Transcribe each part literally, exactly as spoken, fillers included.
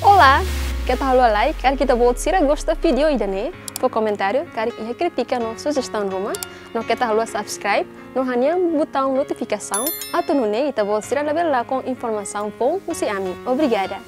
Olá, keta haluha like, karik ita-boot sira gosta vídeo ida-ne'e, fó komentáriu, karik iha krítika no sujestaun ruma, no keta haluha subscribe, no hanehan butaun notifikasaun, atu nune'e ita-boot sira labele lakon informasaun foun husi ami. Obrigada.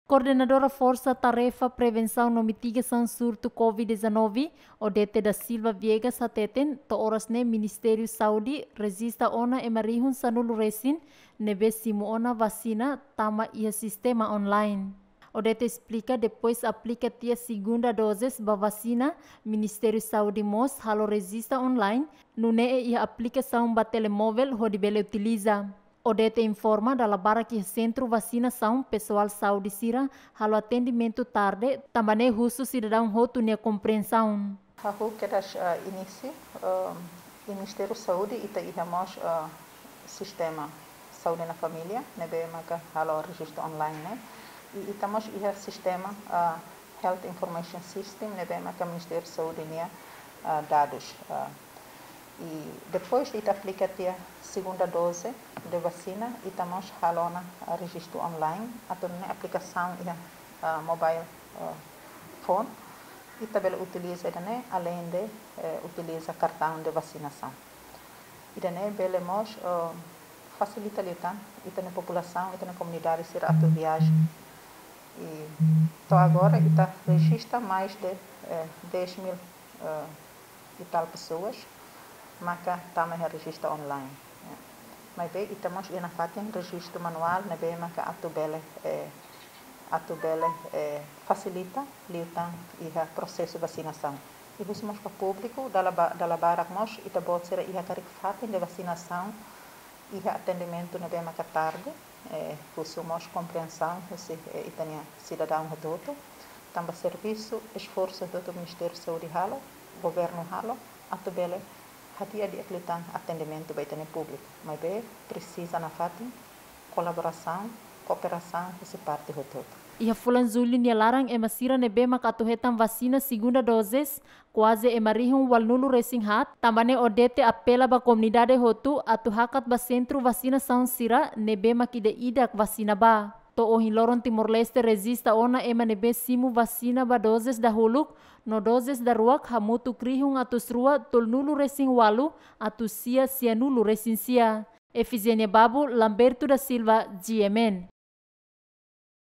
Koordenadora Forsa Tarefa Prevensaun no Mitigasaun Surtu covid dezanove, Odete da Silva Viegas hateten, to'o oras ne'e Ministériu Saúde rejista ona ema rihun sanulu resin ne'ebé simu ona vasina tama iha sistema online. Odete esplika, depois aplika tiha segunda dozes ba vasina, Ministériu Saúde mós halo rejista online, nune'e iha aplikasaun ba telemóvel hodi bele utiliza. Odete informa, dala barak iha sentru vasinasaun, pesoál saúde sira halo atendimentu tarde, tanba ne'e husu sidadaun hotu nia kompriensaun. Hahú kedas, eh, inísiu, eh, iha Ministériu Saúde ita iha mós, eh, sistema Saúde na Família, ne'ebé maka halo rejistu online ne'e. I ita mós iha sistema, eh, Health Information System, ne'ebé maka Ministériu Saúde nia, eh, dadus, eh, I depois de ita aplika tiha segunda doze de vasina, ita mós halo ona, ah, rejistu online, atu nune'e aplikasaun iha, ah, mobile, ah, phone, ita bele utiliza ida-ne'e, além de, eh, utiliza kartaun de vasinasaun. Ida-ne'e bele mós, eh, fasilita liután ita-nia populasaun, ita-nia komunidade sira atu viaja. I to'o agora ita rejista mais de, eh, dez mil, eh, e tal pessoas, maka tama iha rejista online. Maibé ita mós iha nafatin rejistu manuál, ne'ebé maka atu bele, eh, atu bele, eh, fasilita liután iha prosesu vasinasaun. I husu mós ba públiku, dala ba-, dala barak mós ita-boot sira iha karik fatin de vasinasaun, iha atendimentu ne'ebé maka tarde, eh, husu mós kompriensaun husi, eh, ita-nia sidadaun hotu-hotu, tanba servisu, esforsu hotu-hotu Ministériu Saúde halo, governu halo, atu bele hadi'a di'ak liután atendimentu ba ita-nia públiku. Maibé presiza nafatin kolaborasaun, kooperasaun husi parte hotu-hotu. Iha fulan Jullu nia laran, ema sira ne'ebé maka atu hetan vasina segunda dozes kuaze ema rihun ualunulu resin haat, tanba ne'e Odete apela ba komunidade hotu atu hakat ba sentru vasinasaun sira ne'ebé mak ida-idak vasina ba. To'o ohin loron Timor-Leste rejista ona ema ne'ebé simu vasina ba dozes dahuluk no dozes daruak hamutuk rihun atus rua tolunulu resin ualu atus sia sianulu resin sia. Efigénia Babu, Lamberto da Silva, G M N.